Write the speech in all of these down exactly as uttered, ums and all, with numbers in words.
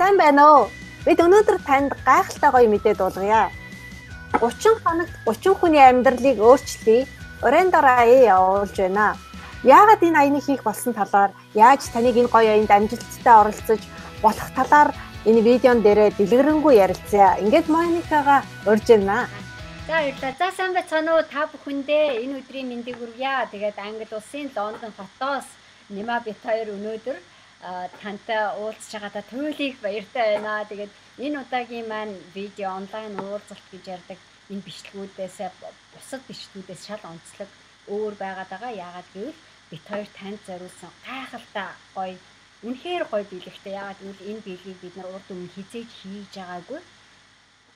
Сайн байна уу? Бид өнөөдөр танд гайхалтай гоё мэдээ дуулгая. гурван хоногт гурван хүний амьдралыг өөрчлөе. Орендороо явуулж байна. Яагаад энэ аяныг хийх болсон талаар, яаж таныг энэ гоё аянд амжилттай оролцож болох талаар энэ видеон дээрээ дэлгэрэнгүй ярилцъя. Ингээд Моникагаа урьж байна. За баярлалаа. За сайн байцгаана уу та бүхэндээ энэ өдрийн мэндийг хүргье. Тэгээд Англи улсын Лондон хотоос Нима бит хоёр өнөөдөр тантай уулзж байгаадаа туйлыг баяртай байна. Тэгээд энэ удаагийн маань видео онлайн уулзалт гэж ярьдаг энэ бичлэгүүдээс бусад бичлэгүүдээс шал онцлог өөр байгаад байгаа. Яагаад гэвэл бит хоёр танд зориулсан гайхалтай гоё үнэхээр гоё биелэгтэй. Яагаад гэвэл энэ биелгийг бид нар урд өмнө хизээж хийж байгаагүй.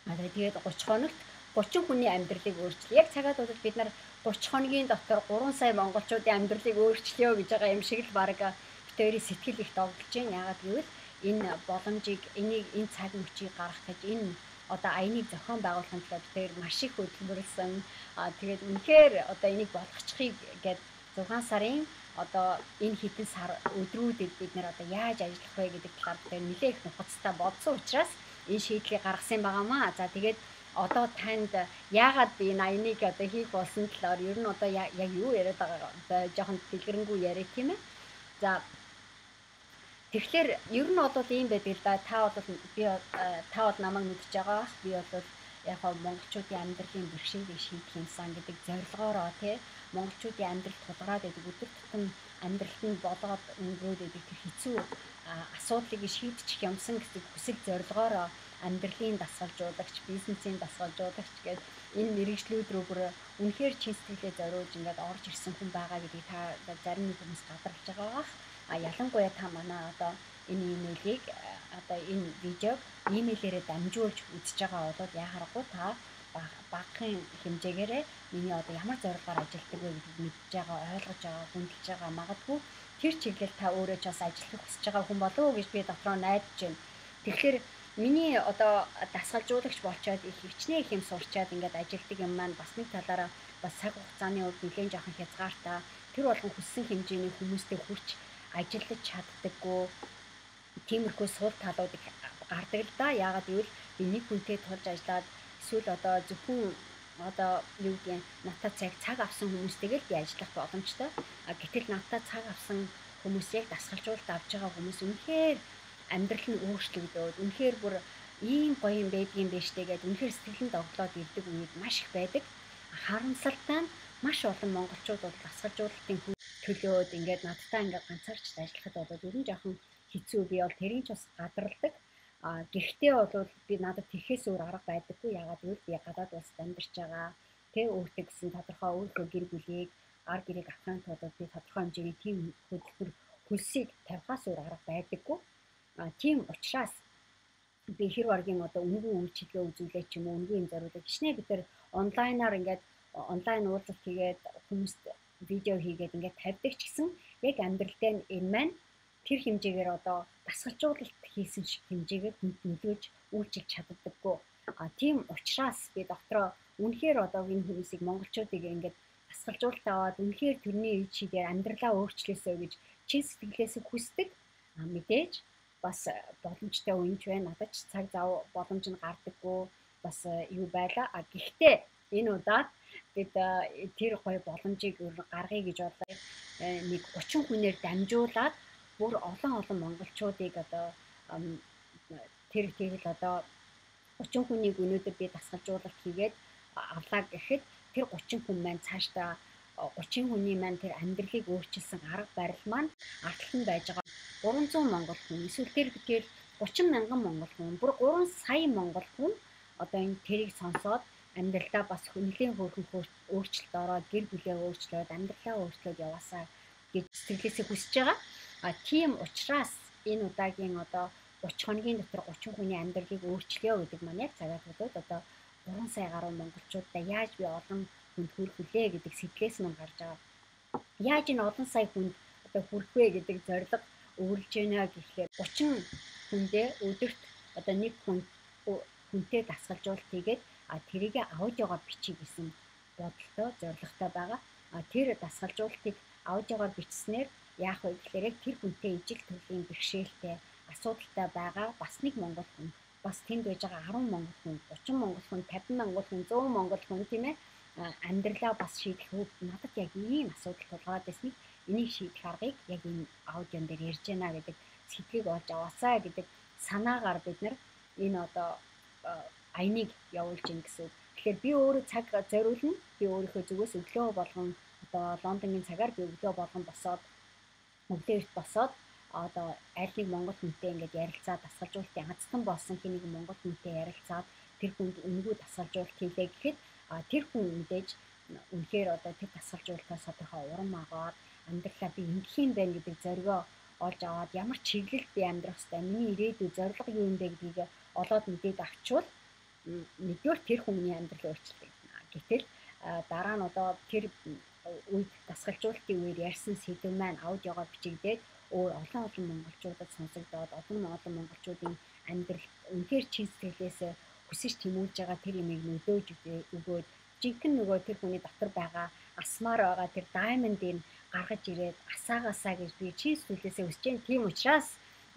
Тэгээд гурван хоногт гурван хүний амьдралыг өөрчлөе. Яг цагаад удаад бид нар гурван хоногийн дотор гурван сая монголчуудын амьдралыг өөрчлөё гэж байгаа юм шиг л баг битэрийн сэтгэл их догдолж байна. Яагаад гэвэл энэ боломжийг, энийг энэ цаг мөчийг гаргах гэж энэ одоо аяныг зохион байгуулахын тулд битэр маш их хөдөлмөрлсөн. Аа тэгээд үнэхээр одоо энийг болгочихыг гээд зургаан сарын одоо энэ хэдэн сар өдрүүдэд бид нэр одоо яаж ажиллах вэ гэдэг талаар битэр нэлээх нухацтай бодсон учраас энэ шийдлийг гаргасан байгаамаа. За тэгээд одоо танд яагаад би энэ аяныг одоо хийх болсон талаар ер нь одоо яг юу яриад байгаа жоохон дэлгэрэнгүй яриа тийм ээ. За тэгэхээр ер нь бол ийм байдаг л да. Та бол би та бол намайг мэдж байгаа. Би бол яг хаа монголчуудын амьдралын бэрхшээлийг шийдэх юмсан гэдэг зорилгоороо тий монголчуудын амьдрал тулгараад байдаг өдөр тутам амьдралд нь болоод өнгөрөөд байдаг тэр хэцүү асуудлыг шийдчих юмсан гэдэг хүсэл зорилгоороо амьдралын дасгалжуулагч, бизнесийн дасгалжуулагч гэдэг энэ мэрэгжлүүд рүү бүр үнэхээр чин сэтгэлээ зориулж ингээд орж ирсэн хүн байгаа гэдгийг та зарим нэг хүмүүс гадарлаж байгаа бах. А ялангуяа та манай одоо энэ имэйлийг одоо энэ видеог имэйлээрээ дамжуулж үзэж байгаа бол яхахгүй та багахан хэмжээгээрээ миний одоо ямар зорилгоор ажилладаг вэ гэдгийг мэдж байгаа, ойлгож байгаа, хүндэлж байгаа. Магадгүй тэр чиглэл та өөрөө ч бас ажиллах хүсэж байгаа хүн болов уу гэж би дотроо найдаж байна. Тэгэхээр миний одоо дасгалжуулагч болчоод их хичнээн их юм сурчаад ингээд ажилтдаг юм маань бас нэг талаараа бас цаг хугацааны үед нэлээд жоохон хязгаартай. Тэр болгон хүссэн хэмжээний хүмүүстэй хүрч ажиллаж чаддаггүй. Тиймэрхүү сул талууд их гардаг л да. Яагаад гэвэл би нэг хүнтэй тулж ажиллаад эсвэл одоо зөвхөн одоо юу гэдэг надад цаг цаг авсан хүмүүстэйгээ л би ажиллах боломжтой. А гэтэл надад цаг авсан хүмүүсийг дасгалжуулалт авч байгаа хүмүүс үнэхээр амьдрал нь өөрчлөгдөөд үнэхээр бүр ийм гоё юм байдгийн биш тэгээд үнэхээр сэтгэлэнд оглоод ирдэг үед маш их байдаг. Харамсалтай нь маш олон монголчууд бол дасгалжуулалтын төлөөд ингээд надтай ингээд ганцаарч ажиллахад бол ер нь жоохон хэцүү. Би бол тэрийг ч бас гадарладаг. А гэхдээ бол би надад тэрхээс өөр арга байдаггүй. Яагаад гэвэл би гадаад улсад амьдарч байгаа. Тэ өөртөө гэсэн тодорхой өөрийнхөө гэр бүлийг гар гэрийг авахын тулд би тодорхой хэмжээний тийм хөдөлгөөр хөлсийг тавихаас өөр арга байдаггүй. А тийм учраас би хэр баргийн одоо үнгүй үйлчилгээ үзүүлээ ч юм уу үнгүй юм зориулаад гişнээ бид нар онлайнаар ингээд онлайн уулзалт хийгээд хүмүүст видео хийгээд ингээд тавьдаг ч гэсэн яг амьдралдаа энэ маань тэр хэмжээгээр одоо дасгалжуулалт хийсэн шиг хэмжээгээр нөлөөж үйлчилж чаддаггүй. А тийм учраас би дотроо үнэхээр одоо энэ хүмүүсийг монголчуудыг ингээд дасгалжуулалт аваад үнэхээр тэрний чигээр амьдралаа өөрчлөөсөө гэж чин сэтгэлээс хүсдэг. А мэдээж бас боломжтой үеч байна. Надад ч цаг зав боломж нь гардаггүй бас юу байла. А гэхдээ энэ удаад бид тэр гоё боломжийг гаргая гэж бодлоо. Нэг гурван хүнээр дамжуулаад бүр олон олон монголчуудыг одоо тэр тэгэл одоо гурван хүнийг өнөөдөр би дасгалжуулалт хийгээд авлаа гэхэд тэр гурван хүн маань цаашдаа гурван хүний маань тэр амьдралыг өөрчилсөн арга барил маань ардтал нь байж байгаа гурван зуун монгол хүн эсвэл тэр тэгэхээр гурван мянган монгол хүн бүр гурван сая монгол хүн одоо энэ тэрийг сонсоод амьдралдаа бас хүнлийн хөөрхөн өөрчлөлт ороод гэр бүлээ өөрчлөөд амьдралаа өөрчлөөд яваасаа гэж сэтгэлээсээ хүсэж байгаа. А тийм учраас энэ удаагийн одоо гурван хоногийн дотор гурван хүний амьдралыг өөрчлөё гэдэг маань яг цагаад бодоод одоо гурван сая гаруй монголчуудаа яаж би олон хүнд хүрэх вүлээ гэдэг сэтгэлээс мань гарч байгаа. Яаж энэ олон сая хүнд одоо хүрэх вэ гэдэг зорилго өөрлөж байна гэхлээр гурван хүндээ өдөрт одоо нэг хүн хүнтэй дасгалжуулалт хийгээд а тэрийг авж байгаа бичиг гэсэн бодолтой зорилготой байгаа. А тэр дасгалжуулалтыг авж байгаа бичснээр яах вэ гэхээр тэр хүнтэй ижил төрлийн бэрхшээлтэй асуудалтай байгаа бас нэг монгол хүн, бас тэнд байж байгаа арван монгол хүн, гучин монгол хүн, тавин монгол хүн, зуун монгол хүн тийм ээ амьдралаа бас шийдэх үед надад яг ийм асуудал тулгараад байсныг энийг шийдэх аргыг яг энэ аудион дээр ярьж байна гэдэг сэтгэлийг олж аваасаа гэдэг санаагаар бид нар энэ одоо аяныг явуулж ийн гэсэн. Тэгэхээр би өөрөө цаг зориулна. Би өөрийнхөө зүгээс өглөө болгон одоо Лондонгийн цагаар би өглөө болгон босоод өглөө эрт босоод одоо аль нэг монгол хүнтэй ингээд ярилцаад дасгалжуулалтын хацтан болсон хэнийг монгол хүнтэй ярилцаад тэр хүнд үнэгүй дасгалжуулалт хийлээ гэхэд тэр хүн мэдээж үнэхээр одоо тэр дасгалжуулалтаас тодорхой урам агаад амьдралаа би ингэх юм байна гэдэг зоригоо олж аваад ямар чиглэлд би амьдрах ёстой, миний ирээдүйн зорилго юу юм бэ гэдгийг олоод мэдээд авчвал нэгдүгээр тэр хүний амьдрал өөрчлөгдөнө. Гэтэл дараа нь одоо тэр үед дасгалжуулалтын үеэр ярьсан сэдв маань аудиогоор бичигдээд өөр олон олон монголчуудад сонсогдоод олон олон монголчуудын амьдрал үнэхээр чин сэтгэлээс хүсэж тэмүүлж байгаа тэр юмыг нөлөөж өгөөд жинхэнэ нөгөө тэр хүний дотор байгаа асмаар байгаа тэр даймондыг гаргаж ирээд асаагаасаа гэж би чин сэтгэлээсээ хүсэж байна. Тийм учраас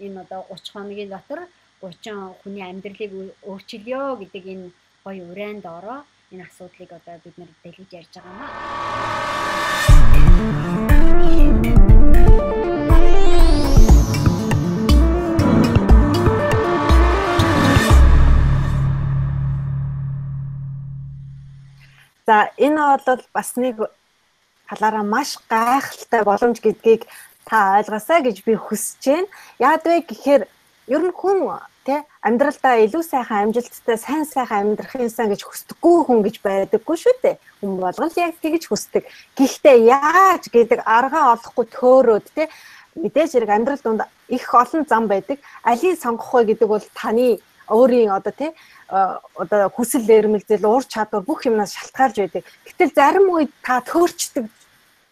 энэ одоо гуч хоногийн дотор гучин хүний амьдралыг өөрчилё гэдэг энэ гоё урайнд ороо энэ асуудлыг одоо бид нар дэлгэж ярьж байгаа юм аа. За энэ бол бас нэг талаараа маш гайхалтай боломж гэдгийг та ойлгосоо гэж би хүсэж байна. Яад вэ гэхээр ер нь хүн тий амьдралдаа илүү сайхан амжилттай сайн сайхан амьдрахын сан гэж хүсдэггүй хүн гэж байдаггүй шүү дээ. Хүн болгон яг тэгж хүсдэг. Гэхдээ яаж гэдэг аргаа олохгүй төөрөөд тий мэдээж хэрэг амьдрал донд их олон зам байдаг. Алийг сонгох вэ гэдэг бол таны өөрийн одоо тий одоо хүсэл эрмэлзэл уур чадвар бүх юмнаас шалтгаалж байдаг. Гэтэл зарим үед та төөрчдөг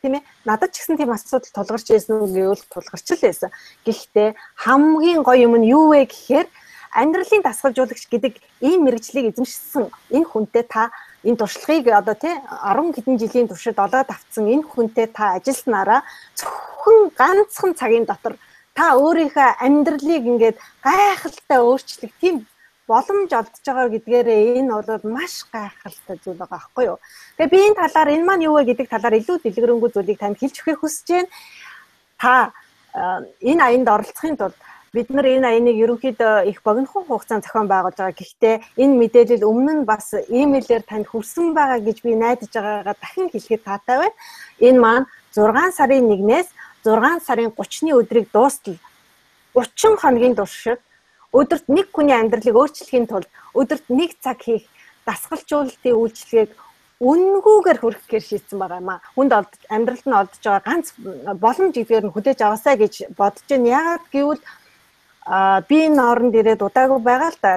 тийм ээ. Надад ч гэсэн тийм асуудал тулгарч байсан үг гэвэл тулгарч л байсан. Гэхдээ хамгийн гоё юм нь юу вэ гэхээр амьдралын дасгалжуулагч гэдэг ийм мэрэгжлийг эзэмшсэн энэ хүнтэй та энэ туршлагыг одоо тий арван хэдэн жилийн туршид олоод авцсан энэ хүнтэй та ажилласнараа зөвхөн ганцхан цагийн дотор та өөрийнхөө амьдралыг ингээд гайхалтай өөрчлөх тийм боломж олдож байгаа гэдгээрээ энэ бол маш гайхалтай зүйл байгаа байхгүй юу. Тэгээ би энэ талаар энэ маань юу вэ гэдэг талаар илүү дэлгэрэнгүй зүйлийг танд хэлж өгөхийг хүсэж байна. Та энэ аянд оролцохын тулд бид нар энэ аяныг ерөнхийдөө их богинохон хугацаанд зохион байгуулж байгаа. Гэхдээ энэ мэдээлэл өмнө нь бас имэйлээр танд хүрсэн байгаа гэж би найдаж байгаагаа дахин хэлэхэд таатай байна. Энэ маань зургаан сарын нэгнээс зургаан сарын гуравны өдрийг дуустал гучин хоногийн туршид өдөрт нэг хүний амьдралыг өөрчлөхийн тулд өдөрт нэг цаг хийх дасгалжуулалтын үйлчилгээг үнэнгүйгээр хүргэхээр шийдсэн байгаа юм аа. Хүнд амьдралд нь олдож байгаа ганц боломж гэдгээр нь хүлээж аваасаа гэж бодож байна. Яагаад гэвэл би энэ орнд ирээд удаагүй байгаа л да.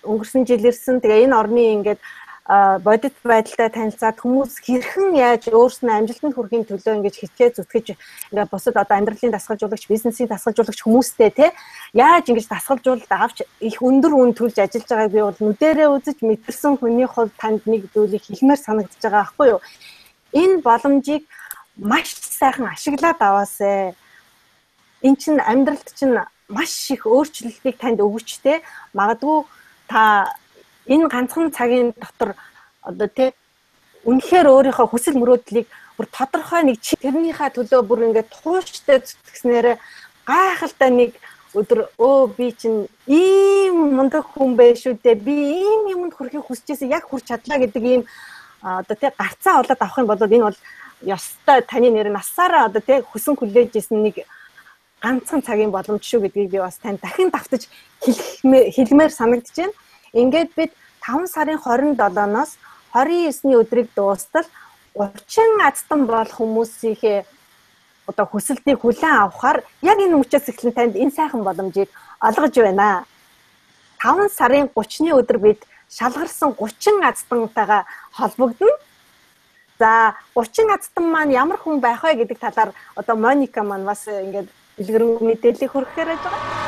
Өнгөрсөн жил ирсэн. Тэгээ энэ орны ингээд бодит байдалтай танилцаад хүмүүс хэрхэн яаж өөрснөө амжилтанд хүрэхин төлөө ингэж хичээ зүтгэж ингээд бусад одоо амьдралын дасгалжуулагч, бизнесийн дасгалжуулагч хүмүүстэй те яаж ингэж дасгалжуулалт авч их өндөр үн төлж ажиллаж байгааг би бол нүдэрээ үзэж мэдэрсэн хүний хувьд танд нэг зүйлийг хэлмээр санагдаж байгаа байхгүй юу. Энэ боломжийг маш сайхан ашиглаад аваасай. Эн чинь амьдралд чинь маш их өөрчлөлтийг танд өгч те магадгүй та энэ ганцхан цагийн дотор одоо тий үнэхээр өөрийнхөө хүсэл мөрөөдлийг бүр тодорхой нэг тэрнийхээ төлөө бүр ингээд тууштай зүтгэснээр гайхалтай нэг өдөр өө би чинь ийм мундаг хүн байх шүү дээ. Би ийм юмд хүрэхийг хүсэжсэн яг хүрч чадлаа гэдэг ийм одоо тий гарцаа олоод авах юм бол энэ бол ёстой таны нэр насаараа одоо тий хүсэн хүлээжсэн нэг ганцхан цагийн боломж шүү гэдгийг би бас тань дахин давтаж хэлмээр санагдаж байна. Ингээд бид таван сарын хорин долооноос хорин есний өдрийг дуустал гучин азтан бол хүмүүсийнхээ одоо хүсэлтийг хүлээн авахаар яг энэ мөчөөс эхлэн танд энэ сайхан боломжийг олгож байна. таван сарын гуравны өдөр бид шалгарсан гучин аздантайгаа холбогдно. За гучин азтан маань ямар хүн байх вэ гэдэг талаар одоо Моника маань бас ингээд дэлгэрэнгүй мэдээлэл хүргэхээр байж байгаа.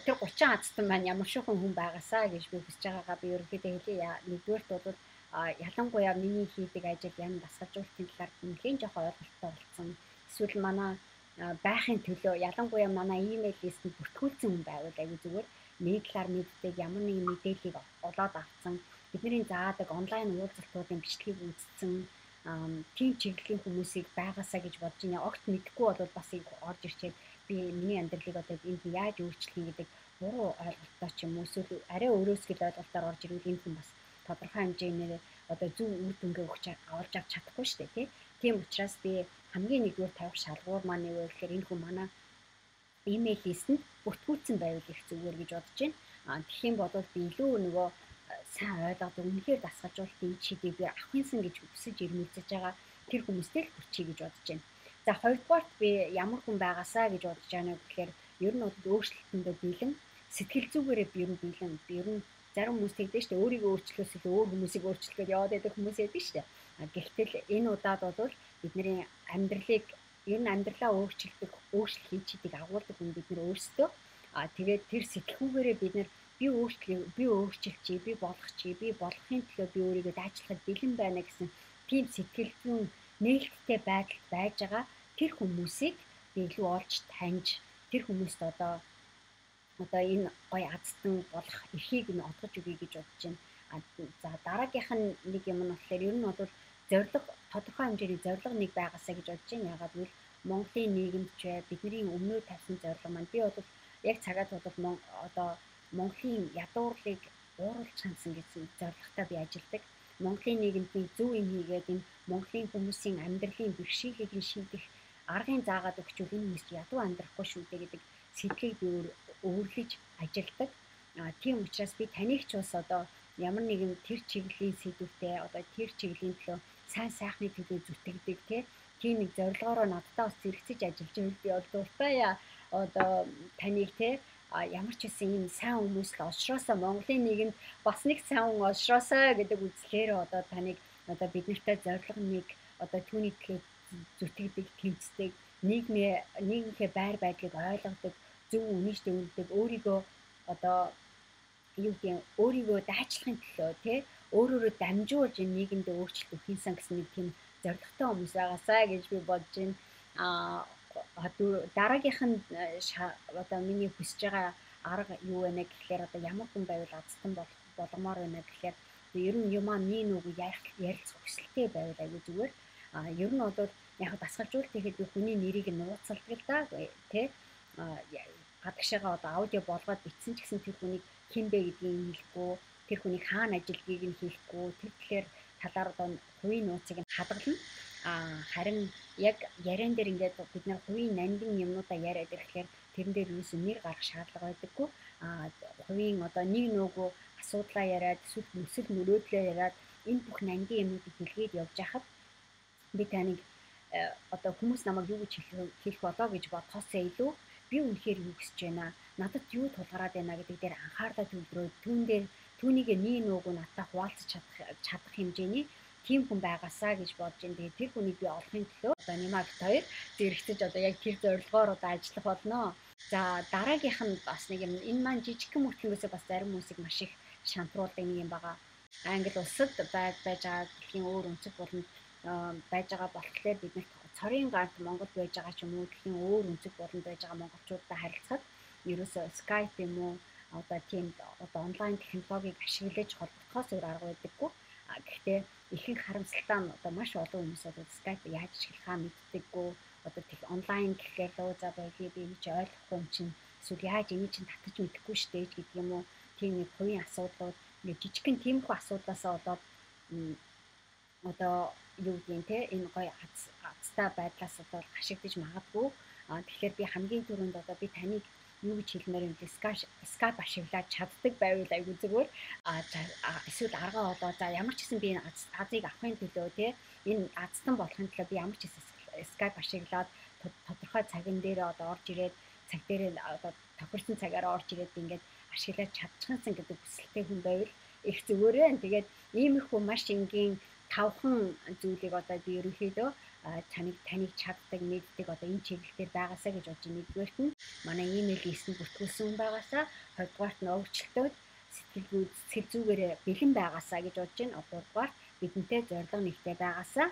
Тэр гучин Аазтан маань ямар шохон хүн байгаасаа гэж би хүсэж байгаагаа би ерөнхийдөө хэлье. Нэгдүгээрт бол ялангуяа миний хийдэг ажил ян дасгалжуулалтын талаар нэлээд жоох ойлголттой болсон. Эсвэл манай байхын төлөө ялангуяа манай имэйл листэнд бүртгүүлсэн хүн байвал аягүй зүгээр нэг талаар мэддэг ямар нэгэн мэдээллийг олоод авсан бидний заадаг онлайн уулзалтуудын бичлэгийг үзсэн тийм чиглэлийн хүмүүсийг байгаасаа гэж бодож байна. Огт мэдэхгүй бол бас их орж ирчээд би миний амьдралыг одоо энд яаж өөрчлөх гэдэг буруу ойлголттой ч юм уу эсвэл арай өөрөөсгөл ойлголтоор орж ирвэл энэ хүн бас тодорхой хэмжээгээр одоо зөв үр дүнгээ өгч авч авч чадахгүй шүү дээ тийм учраас би хамгийн нэгдүгээр тавих шалгуур маань юу вэ гэхээр энэ хүн манай имэйл листэнд бүртгүүлсэн байвал их зүгээр гэж бодож байна. А тэгэх юм бол би илүү нөгөө сайн ойлгоод үнэхээр дасгалжуулалтын чидийг би авахынсан гэж хүсэж ирмэлцэж байгаа тэр хүмүүстэй л хүрчий гэж бодож байна. За хоёрдугаарт би ямар хүн байгаасаа гэж бодож байна гэхээр ер нь бол өөрчлөлтөндөө бэлэн сэтгэл зүгээрээ би ер нь бэлэн би ер нь зарим хүмүүс тэгдэг шүү дээ өөрийгөө өөрчлөхөөс илүү өөр хүмүүсийг өөрчлөхөд яваад байдаг хүмүүс байдаг шүү дээ. А гэтэл энэ удаад бол бидний амьдралыг ер нь амьдралаа өөрчилдөг өөрчлөлт хийчидэг агуулдаг хүн бид нар өөрсдөө а тэгээд тэр сэтгүүгээрээ бид нар би өөрчлөе би өөрчилчихье би болох чи би болохын төлөө би өөрийгөө дайчлахад бэлэн байна гэсэн тийм сэтгэл зүйн нээлттэй байдалд байж байгаа тэр хүмүүсийг би илүү олж таньж тэр хүмүүст одоо одоо энэ гоё азтан болох эрхийг нь олгож өгье гэж бодож байна. За дараагийнх нь нэг юм нь болохоор ер нь бол зорилго тодорхой хэмжээний зорилго нэг байгаасаа гэж бодож байна. Ягаад гэвэл Монголын нийгэмд ч бидний өмнөө тавьсан зорилго маань би бол яг цагаад бол одоо Монголын ядуурлыг ууруулж хандсан гэсэн зорилготой би ажилладаг. Монголын нийгэмдний зөв юм хийгээд энэ Монголын хүмүүсийн амьдралын бэрхшээлийг нь шийдэх аргын заагаад өгчвөл энэ хүмүүс ядуу амьдрахгүй шүү дээ гэдэг сэтгэлийг би өвөрлөж ажилладаг. А тийм учраас би таних ч бас одоо ямар нэгэн тэр чиглэлийн сэдвүүтэй одоо тэр чиглэлийн төлөө сайн сайхны төлөө зүтгэдэг тийм нэг зорилгоороо надтай бас зэрэгцэж ажиллаж байвал би бол дуртай одоо танийг те а ямар ч хэсэн юм сайн хүмүүс л олшроосоо Монголын нийгэмд бас нэг сайн хүн олшроосоо гэдэг үзлээр одоо таныг одоо бид нартай зорилго нэг одоо түүний төлөө зүтгэдэг тэмцдэг нийгмээ нийгмийнхээ байр байдлыг ойлгодог зөв үнийштэй үлддэг өөрийгөө одоо юу гэдэг өөрийгөө дайчлахын төлөө тий өөрөөрөө дамжуулж энэ нийгэмд өөрчлөлт өгөхийнсэн гэсэн нэг тийм зорилготой хүмүүс байгаасаа гэж би бодож байна. А дараагийнх нь одоо миний хүсэж байгаа арга юу вэ гэхээр одоо ямар хүн байвал азтан болох боломоор байна гэхээр ер нь юмаа нэг нүг ярилцах хүсэлтэй байвал аягүй зүгээр. А ер нь бол яг дасгалжуулалт хийхэд би хүний нэрийг нууцалдаг л да тий гадагшаага одоо аудио болгоод бичсэн ч гэсэн тэр хүнийг хэн бэ гэдгийг хэлэхгүй тэр хүнийг хаана ажиллагийг нь хэлэхгүй тэр тэгэхээр талаар одоо хувийн нууцыг нь хадгална. А харин яг яриан дээр ингээд бид нар хувийн нандин юмнуудаа яриад ирэхээр тэрэн дээр юус нэр гарах шаардлага байдаггүй. А хувийн одоо нэг нөгөө асуудлаа яриад эсвэл нүсэл мөрөөдлөө яриад энэ бүх нандин юмнуудыг хэлгээд явж хахад би таныг одоо хүмүүс намайг юу гэж хэлэх болоо гэж бодхоос илүү би үнэхээр юу гэж байна надад юу тулгараад байна гэдэг дээр анхаарлаа төвлөрөөд түүн дээр түүнийг нэг нүгөө надтай хуваалцах чадах чадах хэмжээний тийм хүн байгаасаа гэж бодож байна. Тэгээд тэр хүнийг би олохын төлөө одоо Нимагт хоёр зэрэгцэж одоо яг тэр зорилгоор одоо ажиллах болно. За дараагийнх нь бас нэг юм энэ маань жижигхэн мөртлөнгөөсөө бас зарим хүмүүсийг маш их шантруулдаг нэг юм байгаа. Англи улсад байж байгаа дэлхийн өөр өнцөг болон байж байгаа болохоор бид нар цорын ганц Монголд байж байгаа ч юм уу дэлхийн өөр өнцөг болонд байж байгаа монголчуудтай харилцахад ерөөсөө Skype юм уу одоо тийм одоо онлайн технологиг ашиглаж холбогдохоос өөр арга байдаггүй. Гэхдээ ихэнх харамсалтай нь одоо маш олон хүмүүс одоо Skype яаж ашиглахаа мэддэггүй. Одоо тех онлайн гэхээр лөө за байли би энэ чи ойлгохгүй юм чинь эсвэл яаж энэ чинь татаж мэдэхгүй штэ гэдэг юм уу. Тийм нэг хувийн асуудлууд нэг жижигхэн тиймэрхүү асуудлаасаа болоод одоо юу гэдэг те энэ гоё азтай байдлаас одоо хашигдаж магадгүй. А тэгэхээр би хамгийн түрүүнд одоо би таныг юу гэж хэлмээр юм бэ? Skype ашиглаад чаддаг байвал айгүй зүгээр. А эсвэл аргаа болоо за ямар ч гэсэн би энэ азыг авахын төлөө те энэ азтан болохын төлөө би ямар ч гэсэн Skype ашиглаад тодорхой цагын дээр одоо орж ирээд цаг дээр одоо тохирсон цагаараа орж ирээд ингээд ашиглаж чадчихсан гэдэг хүсэлтэй хүн байвал их зүгээр байна. Тэгээд иймэрхүү маш энгийн тавхан зүйлийг одоо би ерөнхийдөө таныг таныг чаддаг мэддэг одоо энэ чиглэлээр байгаасаа гэж бодож байна. Нэгдүгээрт нь манай имэйл хийсэнд бүртгүүлсэн хүн байгаасаа, хоёрдугаарт нь өвчлөлтөд сэтгэл сэтгэл зүгээр бэлэн байгаасаа гэж бодож байна. Гуравдугаарт бидэнтэй зорилго нэгтэй байгаасаа,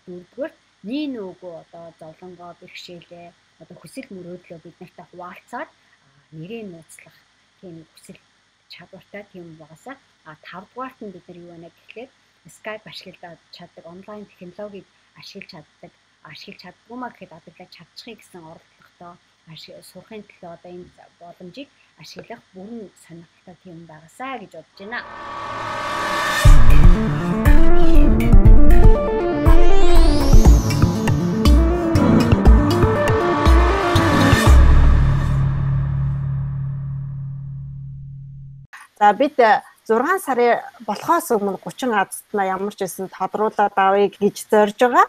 дөрөвдүгээрт нин үгүй одоо зовлонгоо бэрхшээлээ одоо хүсэл мөрөөдлөө бид нартай хуваалцаад нэрээ нууцлах тийм хүсэл чадвартай тийм байгаасаа, а тавдугаарт нь бид нар юу байна гэхлээр Skype ашиглаж чаддаг, онлайн технологиг ашиглаж чаддаг, ашиглаж чаддгүй маа гэхэд адаглаж чадчихъя гэсэн оролдлоготой сурахын төлөө одоо энэ боломжийг ашиглах бүрэн сонирхолтой тийм байгаасаа гэж бодож байна. За бид зургаан сарын болохоос өмнө гучин азтнаа ямар ч байсан тодруулаад авъя гэж зорж байгаа.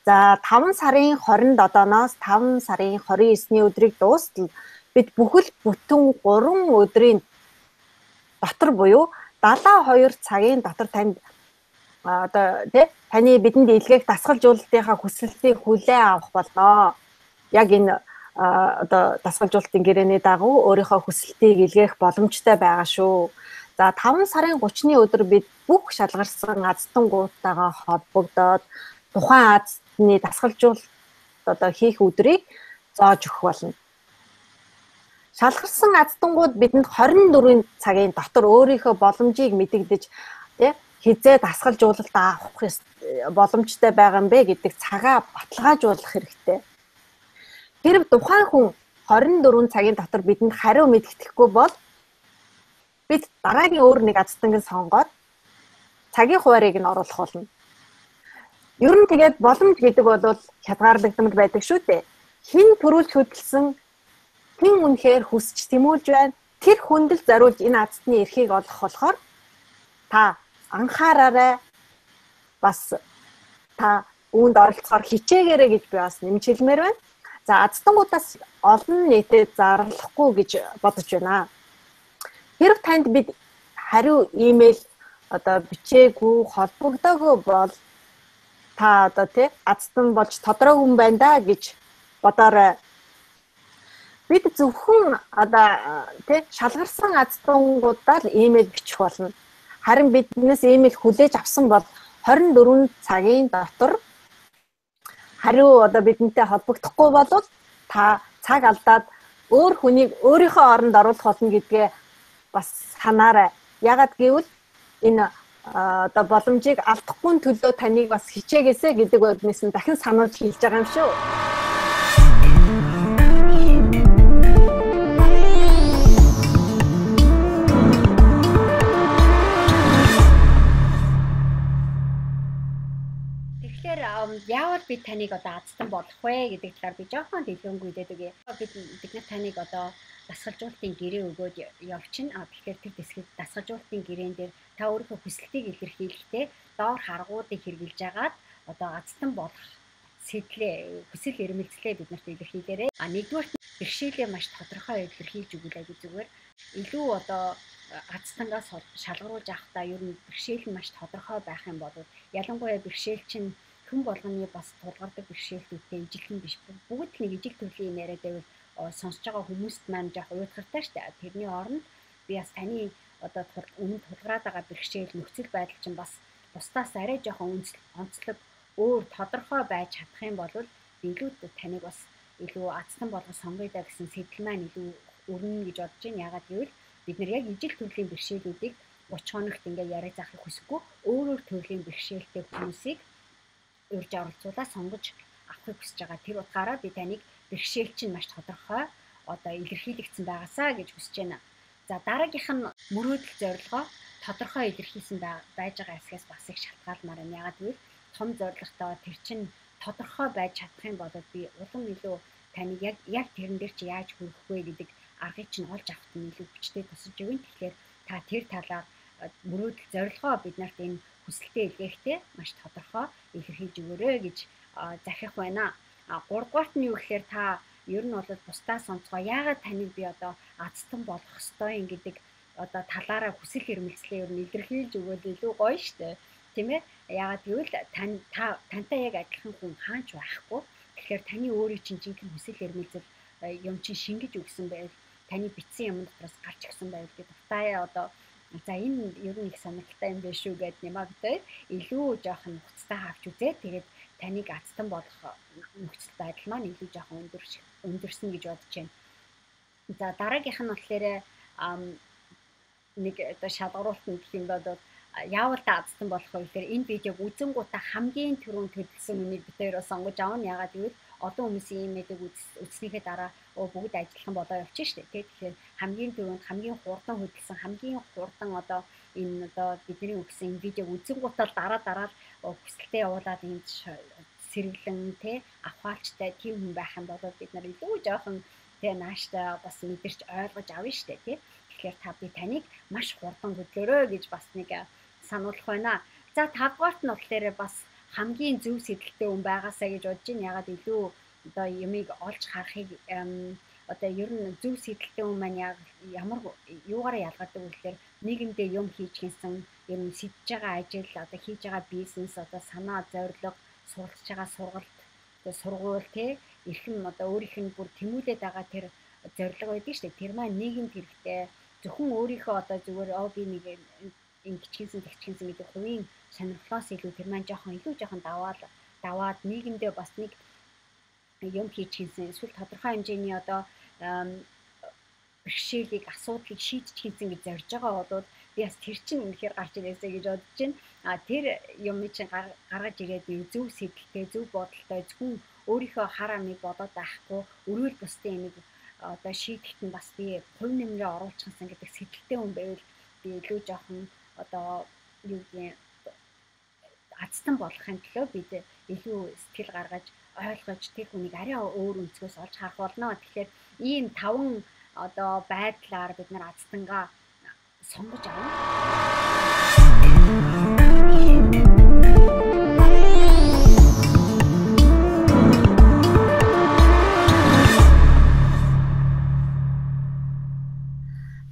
За таван сарын хорионд одооноос таван сарын хорин есний өдрийг дуустал бид бүхэл бүтэн гурван өдрийн дотор буюу далаа хоёр цагийн дотор танд одоо тий таны бидэнд илгээх дасгалжуулалтынхаа хүсэлтийг хүлээн авах болно. Яг энэ одоо дасгалжуулалтын гэрээний дагуу өөрийнхөө хүсэлтийг илгээх боломжтой байгаа шүү. За таван сарын гучны өдөр бид бүх шалгарсан азтангуудтайгаа холбогдоод тухайн азтны дасгалжуулалт одоо хийх өдрийг зааж өгөх болно. Шалгарсан аздангууд бидэнд хорин дөрвөн цагийн дотор өөрийнхөө боломжийг мэдэгдэж тий хизээ дасгалжуулалт авах боломжтой байгаа юм бэ гэдэг цагаа баталгаажуулах хэрэгтэй. Хэрв тухайн хүн хорин дөрвөн цагийн дотор бидэнд хариу мэдэгдэхгүй бол бид дараагийн өөр нэг аздангийг сонгоод цагийн хуваарийг нь оруулах болно. Ер нь тэгээд боломж гэдэг бол хязгаарлагдмал байдаг шүү дээ. Хин төрүүлж хөдөлсөн хин үнэхээр хүсч тэмүүлж байна. Тэр хүнд л зориулж энэ аздны эрхийг олох болохоор та анхаараарай. Бас та үүнд оролцохоор хичээгээрэй гэж би бас нэмж хэлмээр байна. За аздангуудаас олон нийтэд зарлахгүй гэж бодож байна. Хэрв танд бид хариу имэйл одоо бичээгүй холбогдоогүй бол та одоо тий аздан болж тодорхой хүн байна да гэж бодоорой. Бид зөвхөн одоо тий шалгарсан аздангуудаар л имэйл бичих болно. Харин биднээс имэйл хүлээж авсан бол хорин дөрвөн цагийн дотор хариу одоо бидэнтэй холбогдохгүй бол та цаг алдаад өөр хүнийг өөрийнхөө оронд оруулах болно гэдгээ бас санаарай. Ягаад гэвэл энэ одоо боломжийг алдахгүй төлөө таныг бас хичээгээсэ гэдэг үднээс нь дахин сануулж хэлж байгаа юм шүү. Тэгэхээр яавал би таныг одоо азтан болох вэ гэдэг талаар би жоохон дэлгэнгүй хэлээд өгье. Бид бид таныг одоо дасгалжуулалтын гэрээ өгөөд явчихна. А тэгэхээр тэр дэсгэд дасгалжуулалтын гэрээн дээр та өөрийнхөө хүсэлтийг илэрхийлэхдээ доор харгуудыг хэрэгжилж агаад одоо азтан болох сэтлээ хүсэл эрмэлзлээ бид нарт илэрхийлээрэй. А нэгдүгээр бэрхшээлээ маш тодорхой илэрхийлж өгүүлээ гэж зүгээр. Илүү одоо азтангаас шалгаруулж авахдаа ер нь бэрхшээл нь маш тодорхой байх юм бол ялангуяа бэрхшээл чинь хүн болгоны бас тулгардаг бэрхшээлүүдтэй ижилхэн биш. Бүгд нэг ижил төрлийн юм яриад байвал сонсож байгаа хүмүүст маань жоох уйтгартай шүү дээ. Тэрний оронд би бас таны одоо өмнө тулгараад байгаа бэрхшээл нөхцөл байдал чинь бас бусдаас арай жоохон онцлог өөр тодорхой байж чадах юм бол би илүү таныг бас илүү азтан болгох сонгоё да гэсэн сэтэл маань илүү өрнө гэж бодож байна. Ягаад гэвэл бид нар яг ижил төрлийн бэрхшээлүүдийг гуч хоногт ингээ яриа заахыг хүсэхгүй өөр өөр төрлийн бэрхшээлтэй хүмүүсийг урьж оролцуулаад сонгож авахыг хүсэж байгаа. Тэр утгаараа би таныг бэрхшээл чинь маш тодорхой одоо илэрхийлэгдсэн байгаасаа гэж хүсэж байна. За дараагийнх нь мөрөөдөл зорилгоо тодорхой илэрхийлсэн байж байгаа хэсгээс бас их шалтгаалмаар байна. Ягаад гэвэл том зорилготой тэр чинь тодорхой байж чадах юм бол би улам илүү таныг яг яг тэрэн дээр чи яаж хүрэх вэ гэдэг аргыг чинь олж авахт нь илүү хүчтэй тусалж өгнө. Тэгэхээр та тэр талаар мөрөөдөл зорилгоо бид нарт энэ хүсэлтэд илгээхдээ маш тодорхой илэрхийлж өгөөрэй гэж захих байна. А гуравдугаарт нь юу гэхээр та ер нь бол бусдаас онцгой яагаад таныг би одоо азтан болох ёстой юм гэдэг одоо талаараа хүсэл эрмэлзлээ ер нь илэрхийлж өгвөл илүү гоё штэ. Тийм ээ. Яагаад гэвэл тань та тантай яг адилхан хүн хаач байхгүй. Тэгэхээр таны өөрийн чинь жинхэнэ хүсэл эрмэлзэл юм чинь шингэж өгсөн байв. Таны битсэн юм дотроос гарч ирсэн байв гэдэг утгаараа одоо за энэ ер нь их сонирхолтой юм биш шүү гэд нэмэгдээ илүү жоохон нухацтай авч үзээ. Тэгээд таныг азтан болох нөхцөл байдал маань илүү жоохон өндөр өндөрсөн гэж бодож байна. За дараагийнх нь болохоор нэг одоо шалгаруулт нь гэх юм бол яавал та азтан болох вэ гэхээр энэ видеог үзэнгуудаа хамгийн түрүүнд хөдөлсөн үнийг бид хоёр сонгож авна. Ягаад гэвэл олон хүмүүсийн ийм мэдэг үзснийхээ дараа оо бүгд ажиллах болоо явчих штэ. Тэгэхээр хамгийн түрүүнд хамгийн хурдан хөдөлсөн хамгийн хурдан одоо энэ одоо бидний өгсөн энэ видеог үзэнгуудаа дараа дараа хүсэлтэд явуулаад энэ сэргэлэн те авахалчтай тийм хүн байх юм бол бид нар илүү жоохон те нааштай бас мэдэрч ойлгож авна штэ те. Тэгэхээр та би таныг маш хурдан хөдлөөрөө гэж бас нэг сануулах байна. За тавдугаарт нь болохоор бас хамгийн зөв сэдэлтэй хүн байгаасаа гэж бодож байна. Ягаад илүү одоо юмыг олж харахыг одоо ер нь зөв сэдэлтэй хүн маань яг ямар юугаараа ялгардаг вэ гэхээр нийгэмдээ юм хийж гинсэн ер нь сэдэж байгаа ажил одоо хийж байгаа бизнес одоо санаа зорилго суралцж байгаа сургалт одоо сургууль те эрхэм одоо өөрийнх нь бүр тэмүүлээд байгаа тэр зорилго байдаг шүү дээ. Тэр маань нийгэмд хэрэгтэй. Зөвхөн өөрийнхөө одоо зүгээр оо би нэг ингэчгэнсэн тэгчгэнсэн гэдэг хувийн сонирхлоос илүү тэр маань жоохон илүү жоохон даваад даваад нийгэмдээ бас нэг юм хийж гинсэн эсвэл тодорхой хэмжээний одоо бэрхшээлийг асуудлыг шийдэж гинсэн гэж зорж байгаа бол би бас тэр чинь үнэхээр гарч ирээсэй гэж бодож байна. А тэр юм чинь гаргаж ирээд зөв сэдэлтэй зөв бодолтой зөвхөн өөрийнхөө хар амыг бодоод байхгүй өрөөл бусдын амиг одоо шийдэхэд нь бас би хувь нэмрээ оруулчихсан гэдэг сэдэлтэй хүн байвал би илүү жоохон одоо юу гэдэг азтан болохын төлөө бид илүү сэтгэл гаргаж ойлгож тэр хүнийг арай өөр өнцгөөс олж харах болно. Тэгэхээр ийм таван одоо байдлаар бид нар азтангаа сонгож авна.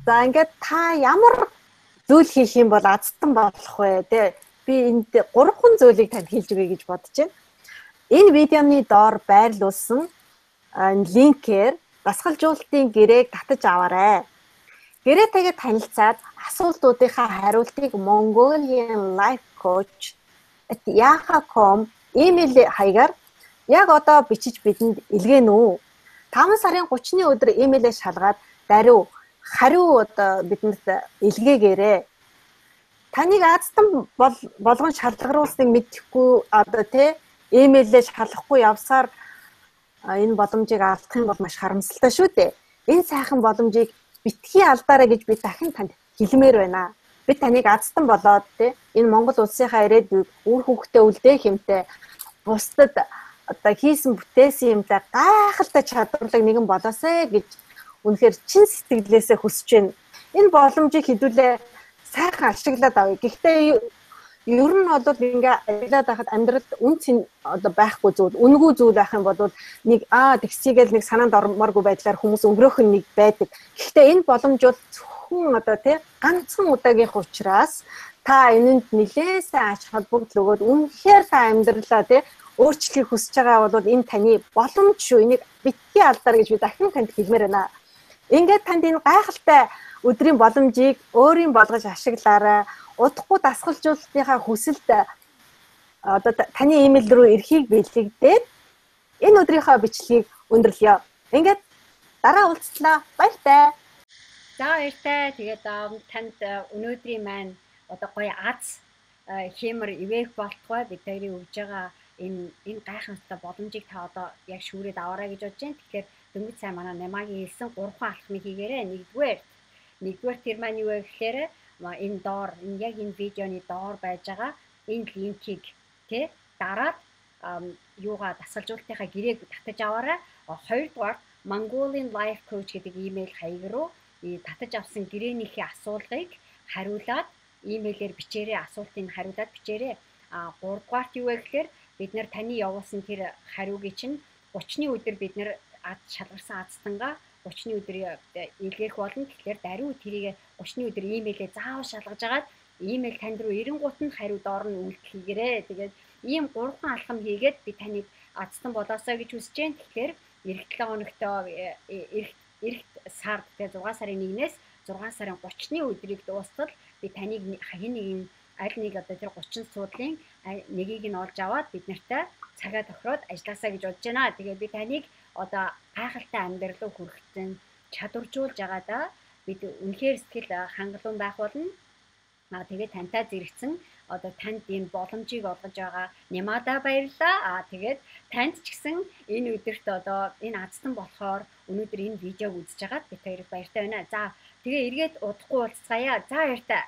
За ингээд та ямар зүйл хийх юм бол азтан болох вэ? Тэ би энд гурван зүйлийг танд хэлж өгье гэж бодож байна. Энэ видеоны доор байрлуулсан линкээр дасгалжуулалтын гэрээг татаж аваарай. Гэрээтэйгээ танилцаад асуултуудынхаа хариултыг Mongolian Life Coach at yahoo dot com имэйл хаягаар яг одоо бичиж бидэнд илгээнэ үү. таван сарын гуравны өдөр имэйлээ шалгаад даруй хариу одоо бидэнд илгээгээрэй. Таныг азтан болгон шалгаруулсныг мэдэхгүй одоо тий имэйлээ шалгахгүй явсаар энэ боломжийг алдах юм бол маш харамсалтай шүү дээ. Энэ сайхан боломжийг битгий алдаарай гэж би дахин танд хэлмээр байна. Би таныг азтан болоод тий энэ Монгол улсынхаа ирээдүйг үр хөвгтөө үлдээх юмтай бусдад одоо хийсэн бүтээсэн юмтай гайхалтай чадварлаг нэгэн болоосэй гэж үнэхээр чин сэтгэлээсээ хүсэж байна. Энэ боломжийг хэдүүлээ сайхан ашиглаад авъя. Гэхдээ ер нь бол ингээ ажиллаад байхад амьдралд үн цэн одоо байхгүй зүйл, үнгүй зүйл байх юм бол нэг аа тэгсийгээл нэг санаанд ормооргүй байдлаар хүмүүс өнгөрөөх нь нэг байдаг. Гэхдээ энэ боломж бол зөвхөн одоо тий ганцхан удаагийнх учраас та энэнд нэлээд сайн ач холбогдол өгөөд үнэхээр та амьдралаа тий өөрчлөхийг хүсэж байгаа бол энэ таны боломж шүү. Энийг битгий алдаар гэж би дахин танд хэлмээр байна. Ингээд танд энэ гайхалтай өдрийн боломжийг өөрийн болгож ашиглаарай. Удахгүй дасгалжуулалтынхаа хүсэлт одоо таны имэйл рүү ирэхийг бэлэгдээд энэ өдрийнхөө бичлэгийг өндөрлөё. Ингээд дараа уулзлаа. Баяртай. За баяртай. Тэгээд танд өнөөдрийн маань одоо гоё аз хэмэр ивэх болтгой бид хоёрын өгж байгаа энэ энэ гайхамшигтай боломжийг та одоо яг шүүрээд аваарай гэж бодож байна. Тэгэхээр дөнгөж сайн манай Намагийн хэлсэн гурван алхмыг хийгээрэй. Нэгдүгээр нэгдүгээр тэр маань юу вэ гэхээр энэ доор энэ яг энэ видеоны доор байж байгаа энэ линкийг тий дараад юугаа дасгалжуулалтынхаа гэрээг татаж аваарай. Хоёрдугаар Mongolian Life Coach гэдэг имэйл хаяг руу татаж авсан гэрээнийхээ асуулгыг хариулаад имэйлээр бичээрэй. Асуултыг хариулаад бичээрэй. А гуравдугаарт юу вэ гэхээр бид нэр таны явуулсан тэр хариуг чинь гуравны өдөр бид нэр шалгарсан азтангаа гуравны өдөр илгээх болно. Тэгэхээр даруй тэрийг гуравны өдөр имэйлээ заавал шалгаж агаад Иймэл танд руу эренгуут нь хариу доор нь үйлдэл хийгээрэй. Тэгээд ийм гурван алхам хийгээд би таныг азтан болоосоо гэж хүсэж байна. Тэгэхээр эх долоо хоногтоо эх эх сард тэгээд зургаан сарын нэгнээс зургаан сарын гуравны өдрийг дуустал би таныг хэн нэгэн аль нэг одоо тэр гуравчин суудлын нэгийг нь олж аваад бид нартай цагаа тохироод ажилласаа гэж бодож байна. Тэгээд би таныг одоо гайхалтай амьдрал руу хүрэхтэн чадваржуулж байгаадаа бид үнэхээр сэтгэл хангалуун байх болно. Аа тэгээд тантай зэрэгцэн одоо танд энэ боломжийг олгож байгаа Немада баярлалаа. Аа тэгээд танд ч гэсэн энэ өдөрт одоо энэ азтан болохоор өнөөдөр энэ видеог үзэж байгаад бид хоёрыг баяртай байна. За тэгээ эргээд удахгүй уулзцаая. За баяртай.